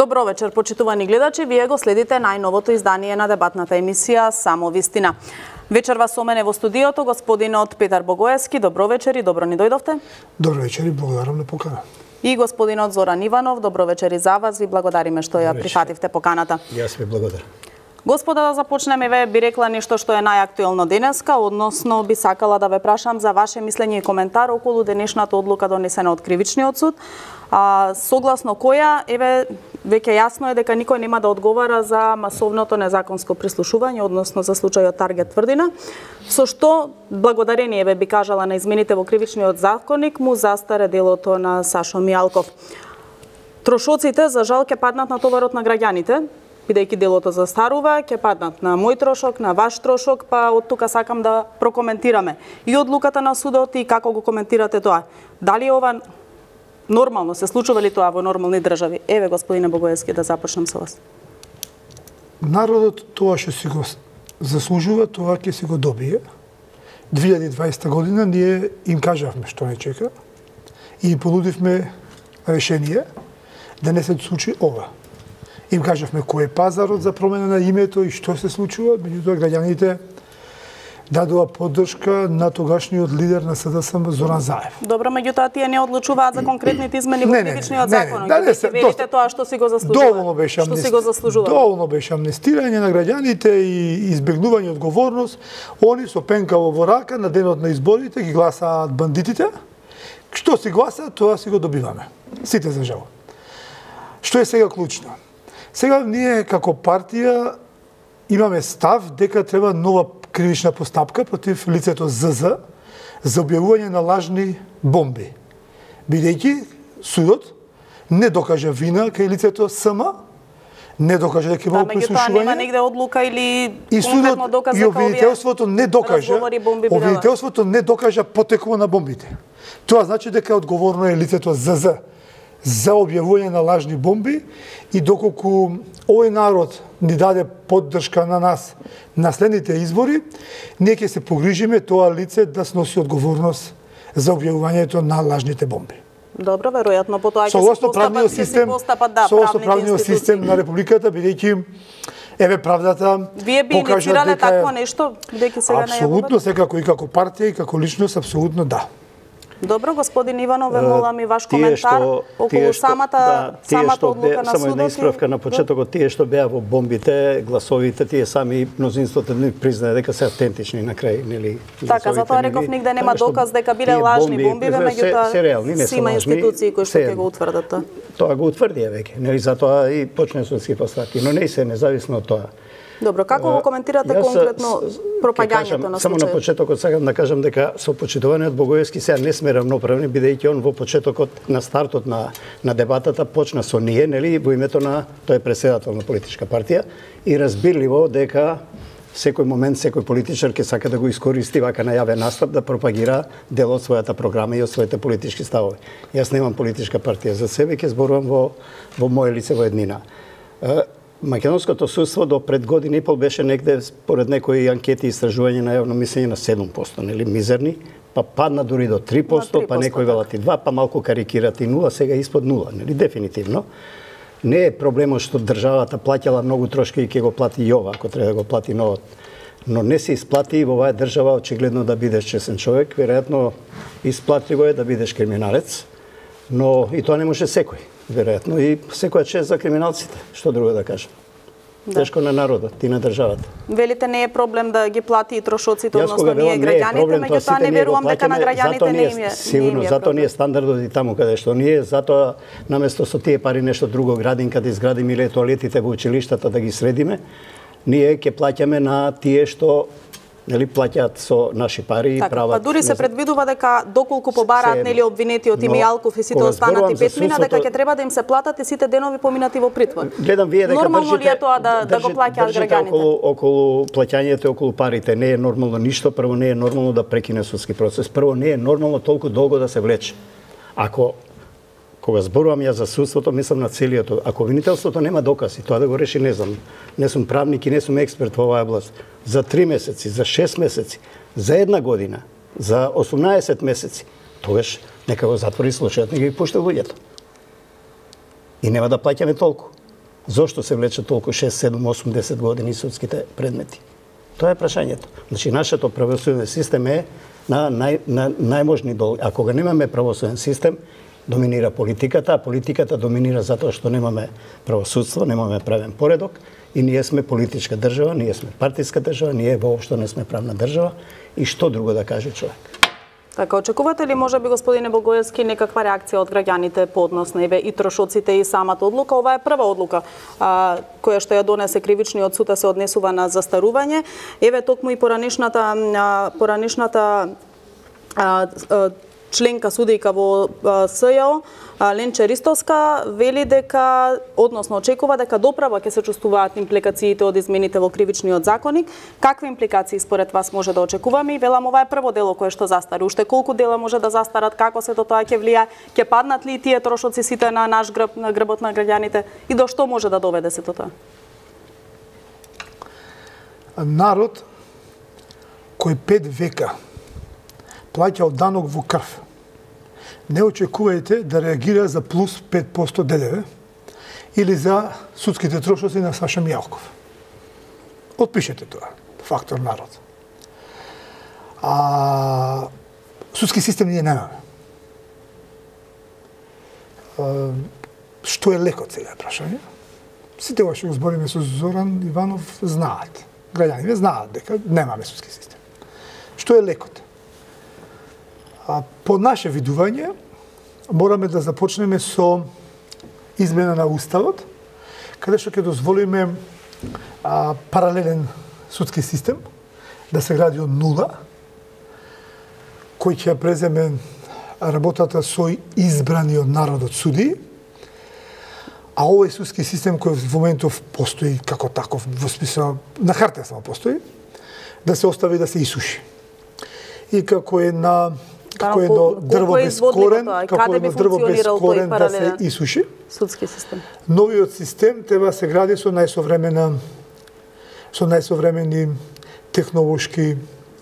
Добро вечер, почитувани гледачи. Вие го следите најновото издание на дебатната емисија Само вистина. Вечерва со мене во студиото господинот Петар Богоевски. Добро вечер и добро ни дојдовте. Добро вечер и благодарам на покана. И господинот Зоран Иванов. Добро вечер и за вас. Ви благодариме што ја прифативте поканата. Јас ви благодарам. Господа, да започнеме, ве би рекла нешто што е најактуелно денеска, односно би сакала да ве прашам за ваше мислење и коментар околу денешната одлука донесена од Кривичниот суд, согласно која, веќе јасно е дека никој нема да одговара за масовното незаконско прислушување, односно за случајот Таргет Тврдина, со што, благодарение би кажала на измените во Кривичниот законник, му застаре делото на Сашо Мијалков. Трошоците, за жал, ќе паднат на товарот на граѓаните, бидејќи делото застарува, ќе паднат на мој трошок, на ваш трошок, па од тука сакам да прокоментираме и одлуката на судот и како го коментирате тоа. Дали ова нормално, се случува ли тоа во нормални држави? Еве, господине Богоевски, да започнем со вас. Народот тоа што си го заслужува, тоа ќе си го добие. 2020 година ние им кажавме што не чека и понудивме решение да не се случи ова. Им кажавме кој е пазарот за промена на името и што се случува, меѓутоа граѓаните дадоа поддршка на тогашниот лидер на СДСМ Зоран Заев. Добро, меѓутоа тие не одлучуваат за конкретните измени во Кривичниот закон. Верите тоа што си го заслужува. Доволно беше амнестирање на граѓаните и избегнување одговорност. Они со пенкаво во рака на денот на изборите ги гласаат бандитите. Што си гласаат, тоа си го добиваме. Сите за жал. Што е сега клучно? Сега ние како партија имаме став дека треба нова кривична постапка против лицето ЗЗ за објавување на лажни бомби. Бидејќи судот не докажа вина кај лицето СМ, не докажа дека имало прислушување. Нема негде одлука или конкретно доказ дека обвинителството не докажа потекот на бомбите. Тоа значи дека одговорно е лицето ЗЗ за објавување на лажни бомби и доколку овој народ ни даде поддршка на нас на следните избори, ние ќе се погрижиме тоа лице да сноси одговорност за објавувањето на лажните бомби. Добро, веројатно потоа ќе се постапат правниот систем на републиката, бидејќи еве правдата Вие би инициирале такво нешто, бидејќи сега најавувате? Апсолутно, секако и како партија и како личност, апсолутно да. Добро, господин Иванов, ве молам и ваш коментар околу самата одлука на судот. Само една исправка на почетокот, тие што беа во бомбите, гласовите, тие сами мнозинството не признае дека се автентични на крај, нели? Така, затоа реков нигде нема доказ дека биле лажни бомби, меѓутоа си има институции кои што ќе го утврдат тоа. Тоа го утврдија веќе, нели? Затоа и почне судски постапки, но не се независно од тоа. Добро, како го коментирате конкретно пропагањето на случајот? Само на почетокот сакам да кажам дека со почитуваниот Богоевски сега не сме равноправни, бидејќи он во почетокот на стартот на дебатата почна со ние, нели, во името на тој председател на политичка партија и разбирливо дека секој момент секој политичар ќе сака да го искористи вака на јавен настап да пропагира дел од својата програма и од своите политички ставови. Јас немам политичка партија за себе, ќе зборувам во моје лице во еднина. Македонското судство до пред година и пол беше негде, според некои анкети и истражување на јавно мислење на 7%, нели, мизерни, па падна дури до 3%, па некои велат и 2%, па малку карикират и 0%, сега испод 0%, нели, дефинитивно. Не е проблемот што државата плаќала многу трошки и ќе го плати и ова, ако треба да го плати новот. Но не се исплати и во оваа држава очигледно да бидеш честен човек, веројатно исплатливо е да бидеш криминалец, но и тоа не може секој. Веројатно и секоја чест за криминалците, што друго да кажам. Тешко на народот и на државата. Велите не е проблем да ги плати и трошоците, односно ние граѓаните, меѓутоа не верувам дека на граѓаните не им е. Сигурно, затоа не е стандардот и таму каде што ние, затоа наместо со тие пари нешто друго градинка да изградиме или тоалетите во училиштата да ги средиме, ние ќе плаќаме на тие што нели плаќаат со наши пари и прават. Па дури се предвидува дека доколку побараат нели обвинетиот и Мијалков и сите останати петмина дека ќе треба да им се платат и сите денови поминати во притвор. Гледам вие дека нормално ли е тоа да го плаќаат граѓаните? Околу плаќањето, околу парите не е нормално ништо, прво не е нормално да прекине судски процес, прво не е нормално толку долго да се влече. Кога зборувам ја за судството, мислам на целиот. Ако обвинителството нема докази, тоа да го реши не знам. Не сум правник и не сум експерт во оваа област. За 3 месеци, за 6 месеци, за 1 година, за 18 месеци, тогаш нека го затвори случајот, нека ги пушти луѓето. И нема да плаќаме толку. Зошто се влече толку 6, 7, 8, 10 години судските предмети? Тоа е прашањето. Значи, нашето правосуден систем е на најможни дол. Ако го немаме правосуден систем, доминира политиката, а политиката доминира затоа што немаме правосудство, немаме правен поредок и ние сме политичка држава, ние сме партиска држава, ние воопшто не сме правна држава и што друго да каже човек. Така, очекувате ли можеби, господине Богоевски, некаква реакција од граѓаните по однос на и трошоците и самата одлука? Ова е прва одлука која што ја донесе кривичниот суд, се однесува на застарување. Еве токму и поранишната членка судијка во СЈО, Ленче Ристовска, вели дека, односно очекува дека доправа ќе се чувствуваат импликациите од измените во кривичниот законник. Какви импликации според вас може да очекуваме? И велам, ова е прво дело кое што застари. Уште колку дела може да застарат, како се тоа ќе влија, ќе паднат ли тие трошоци сите на наш грб, на грбот на граѓаните и до што може да доведе се тоа? Народ кој 5 века плаќал данок во крв, не очекувајте да реагира за плюс 5% ДДВ или за судските трошоци на Саша Мијалков. Отпишете тоа. Фактор народ. Судски систем ние немаме. Што е лекот сега е прашање? Сите ова што го збориме со Зоран Иванов знаат. Граѓаните знаат дека немаме судски систем. Што е лекот? По наше видување, мораме да започнеме со измена на Уставот, каде што ќе дозволиме паралелен судски систем да се гради од нула, кој ќе ја преземе работата со избрани од народот суди, а овој судски систем кој во моментов постои како таков, во смисла на хартија само постои, да се остави да се исуши. И како е на дрво без корен, да се исуши. Судски систем. Новиот систем треба се гради со најсовремени технолошки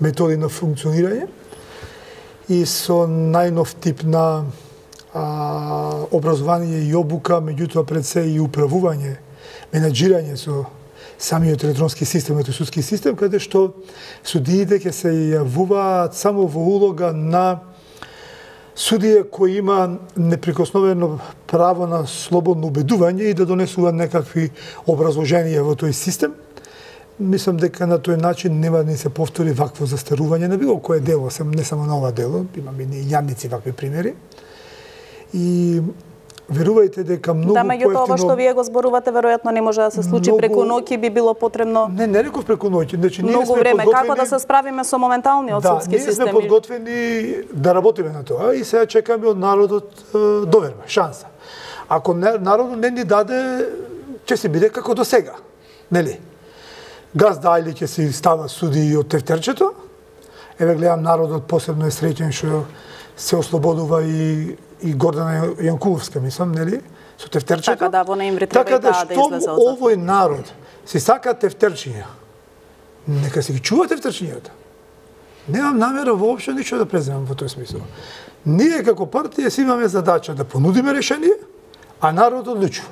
методи на функционирање и со најнов тип на образование и обука, меѓутоа пред се и управување, менаџирање со самиот електронски систем, судски систем, каде што судиите ќе се јавуваат само во улога на судија кој има неприкосновено право на слободно убедување и да донесува некакви образложенија во тој систем. Мислам дека на тој начин нема да се повтори вакво застарување на било кое дело, не само на ова дело, имаме и јадници вакви примери. И верувајте дека многу поевтино... Да, меѓутоа ова што вие го зборувате веројатно не може да се случи преку ноќ и би било потребно... Не реков преку ноќ, значи ние многу сме време. подготвени... Како да се справиме со моменталниот судски систем? Да, ние сме подготвени да работиме на тоа и сега чекаме од народот доверба, шанса. Ако народот не ни даде, ќе се биде како до сега, нели? Газ дајли ќе се става суди од тефтерчето. Еве гледам народот посебно е среќен што се ослободува и Гордана Јанкуловска, мислам, нели? Со тефтерчето. Така да, во ноември треба да излезе од затвор. Овој народ си сака тефтерчиња. Нека си ги чува тефтерчињата. Немам намера воопшто ништо да преземам во тој смисол. Ние како партија си имаме задача да понудиме решение, а народот одлучува.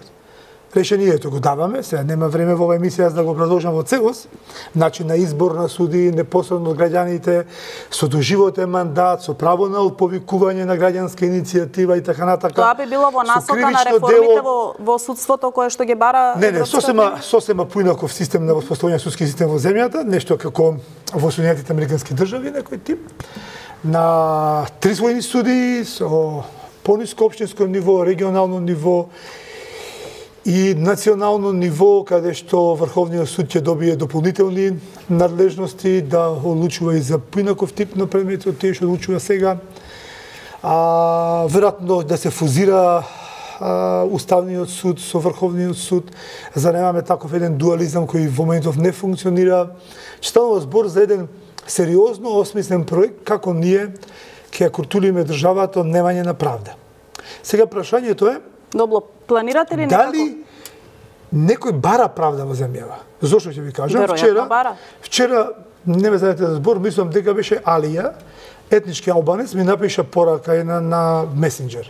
Решението го даваме, сега нема време во оваа емисија да го продолжам во целост, начин на избор на суди, непосредно од граѓаните, со доживотен мандат, со право на отповикување на граѓанска иницијатива и така натака. Тоа би било во насока на реформите во судството кое што ги бара... Не, сосема поинаков систем на воспоставување судски систем во земјата, нешто како во Соединетите американски држави, некој тип, на трисвојни суди, со пониско општинско ниво, регионално ниво, и национално ниво, каде што Врховниот суд ќе добие дополнителни надлежности да одлучува и за поинаков тип на предмети од тие што одлучува сега. Веројатно да се фузира Уставниот суд со Врховниот суд, за да немаме таков еден дуализам кој во моментов не функционира. Станува збор за еден сериозно осмислен проект како ние ќе ја културиме државата од немање на правда. Сега прашањето е Добро, планирате ли некако? Дали некој бара правда во земјава? Зошто ќе ви кажам? Вчера, не ме знаете за збор, мислам дека беше Алија, етнички албанец, ми напиша порака една на месенџер.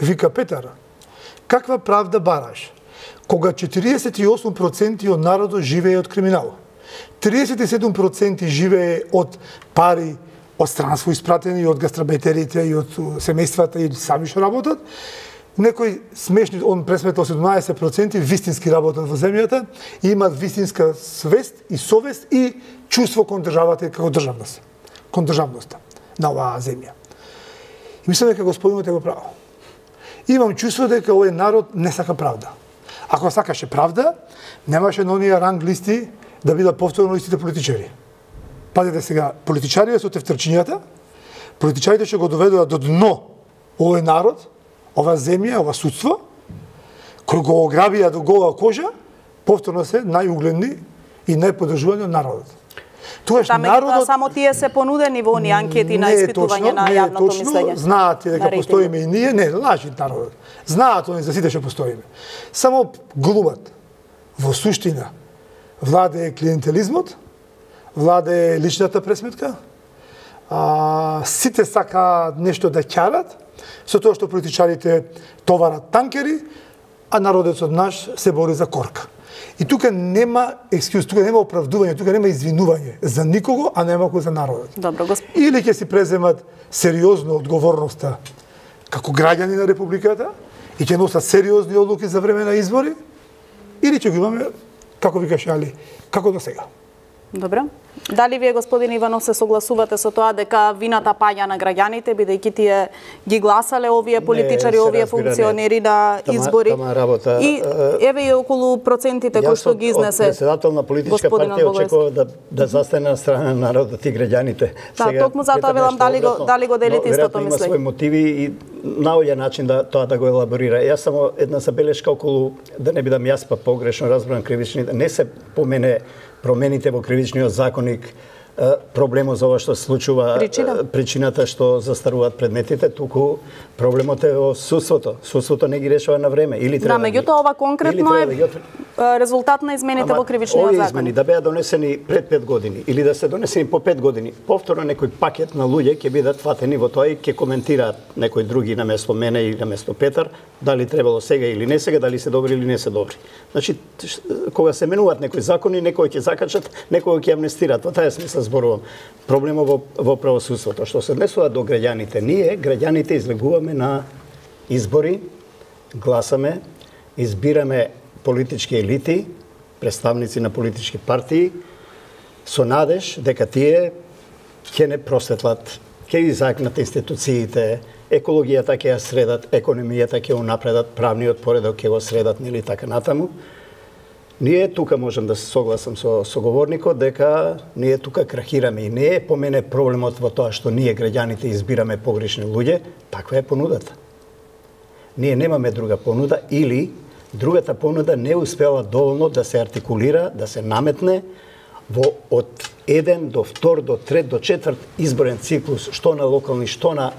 Вика, Петар, каква правда бараш? кога 48% од народот живее од криминал, 37% живее од пари од странство испратени од гастарбајтерите и од семејствата и сами што работат, некои смешни, он пресметал 17% вистински работат во земјата и имаат вистинска свест и совест и чувство кон државата како државност, кон државноста на оваа земја. И мислам дека господинот е го право. Имам чувство дека овој народ не сака правда. Ако сакаше правда, немаше на оние ранг листи да бидат повторно истите политичари. Пазете сега, политичарите со тефтерчињата, политичарите што го доведоа до дно овој народ, ова земја, ова судство, кој го ограбија до гола кожа, повторно се најугледни и најподржувани од народот. Тогаш народот само тие се понудени во оние анкети на испитување на јавното мислење. Знаат дека постоиме и ние, не лажи народот. Знаат они за сите што постоиме. Само глумат. Во суштина владее клиентелизмот, владее личната пресметка, сите сакаат нешто да ќарат, со тоа што политичарите товарат танкери, а народецот наш се бори за корка. И тука нема екскюз, тука нема оправдување, тука нема извинување за никого, а немако за народот. Добро, Или ќе си преземат сериозно одговорноста како граѓани на републиката и ќе носат сериозни одлуки за време на избори, или ќе го имаме, како викаше Али, како до сега. Добро. Дали вие, господин Иванов, се согласувате со тоа дека вината паѓа на граѓаните, бидејќи тие ги гласале овие политичари, овие функционери на избори? И еве и околу процентите кои што ги изнесе. Јас председател на политичка партија очекував да застане на страна на народот и граѓаните. Да, токму затоа велам дали го делите истото мислење. Има своји мотиви и наоѓа начин да тоа да го елаборира. Јас само една забелешка околу, да не бидам јас па погрешно разбран кривичните, не се помене промените во кривичниот законник, проблемот за ова што се случува, причината што застаруваат предметите, туку проблемот е во судството. Судството не ги решава на време. Или треба. Да, меѓутоа ова конкретно е резултат на измените во кривичниот законник. Овие измени да беа донесени пред 5 години или да се донесени по 5 години, повторно некој пакет на луѓе ќе бидат фатени во тоа и ќе коментираат некои други наместо мене или наместо Петар, дали требало сега или не сега, дали се добри или не се добри. Значи, кога се менуваат некои закони, некои ќе закачат, некои ќе амнестираат. Во таа смисла зборувам. Проблемот во правосудството, што се однесува до граѓаните. Ние, граѓаните, излегуваме на избори, гласаме, избираме политички елити, представници на политички партии, со надеж дека тие ќе не просветлат, ќе изакнат институциите, екологијата ќе ја средат, економијата ќе ја унапредат, правниот поредок ќе го средат, нели така натаму. Ние тука можам да се согласам со соговорникот дека ние тука крахираме и не е по мене проблемот во тоа што ние граѓаните избираме погрешни луѓе, таква е понудата. Ние немаме друга понуда или другата понуда не успела доволно да се артикулира, да се наметне од 1 до 2 до 3 до 4 изборен циклус, што на локални, што на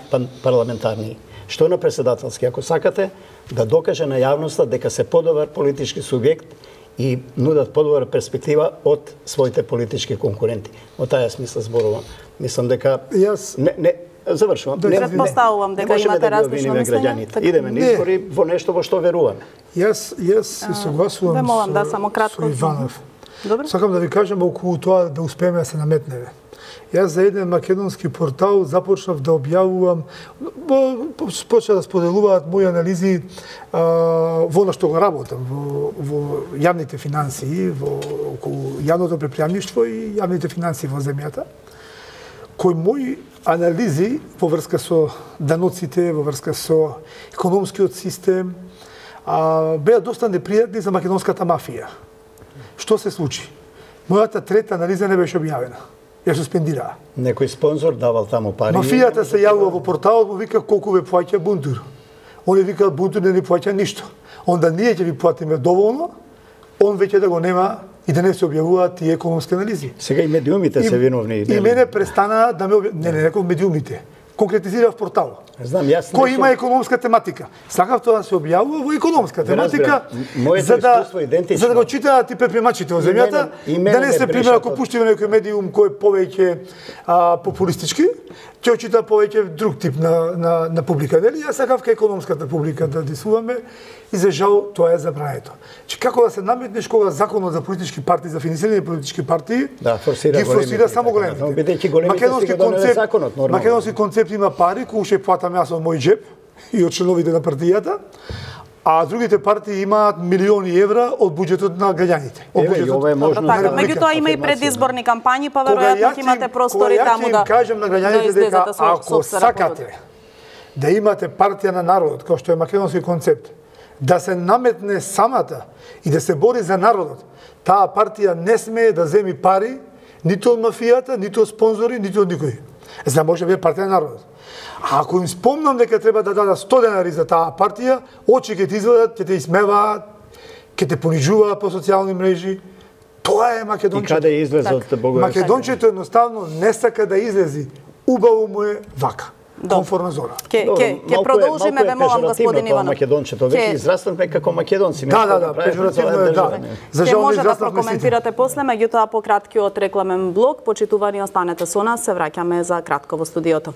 парламентарни, што на председателски, ако сакате, да докаже на јавноста дека се подобар политички субјект и нудат подобра перспектива од своите политички конкуренти. Во таа смисла зборувам. Мислам дека не завршувам. Предпоставувам дека имате различно мислење. Идеме на избори во нешто во што веруваме. Јас се согласувам со Иванов. Сакам да ви кажам околу тоа да успееме да се наметнеме. Јас за еден македонски портал започнав да објавувам, почна да споделуваат мои анализи во на што го работам, во јавните финансии, околу јавното предпријамништво и јавните финансии во земјата, кои мои анализи во врска со даноците, во врска со економскиот систем, беа доста непријатни за македонската мафија. Што се случи? Мојата трета анализа не беше објавена. Ја суспендираа. Некој спонзор давал таму пари. Мафијата се јавува во порталот, му вика колку ве плаќа Бунтур. Они викаат Бунтур не ни плаќа ништо. Онда ние ќе ви платиме доволно, он веќе да го нема и да не се објавуваат тие економски анализи. Сега и медиумите се виновни. И мене престана да ме не реков медиумите. Конкретизирав портал. Знам, јас кој има економска тематика. Сакав тоа да се објавува во економска тематика, за да го читаат и предприемачите во земјата, да не се пример ако пуштиме некој медиум кој е повеќе популистички, ќе ќе очита повеќе друг тип на публика. Нели јас сакав кај економската публика да дисуваме и за жал тоа е забрането. Че како да се наметнеш кога законот за политички партии, за финансирање политички партии, ги форсира само големите. Македонски концепт има пари, кои ќе платам јас од мој џеп и од членовите на партијата, а другите партии имаат милиони евра од буџетот на граѓаните. Ова е можно. Меѓутоа има и предизборни кампањи, па веројатно ќе имате простори таму да кажам на граѓаните дека ако сакате да имате партија на народот, како што е македонски концепт, да се наметне самата и да се бори за народот, таа партија не смее да земи пари ниту од мафијата, ниту од спонзори, ниту од никој. За да може да биде партија на народот. А ако им спомнам дека треба да дадат 100 денари за таа партија, очи ќе ти извадат, ќе те исмеваат, ќе те понижуваат по социјални мрежи. Тоа е македончето. И каде излезе од Богоевски? Македончето едноставно не сака да излези. Убаво му е вака. Комфорна зона. Ќе продолжиме, ве молам, господин Иванов. Македончето веќе израснавме како македонци. Да, пежоративно е, да. За жал може да прокоментирате после, меѓутоа по краткиот рекламен блок, почитувани останете со нас, се враќаме за кратко во студиото.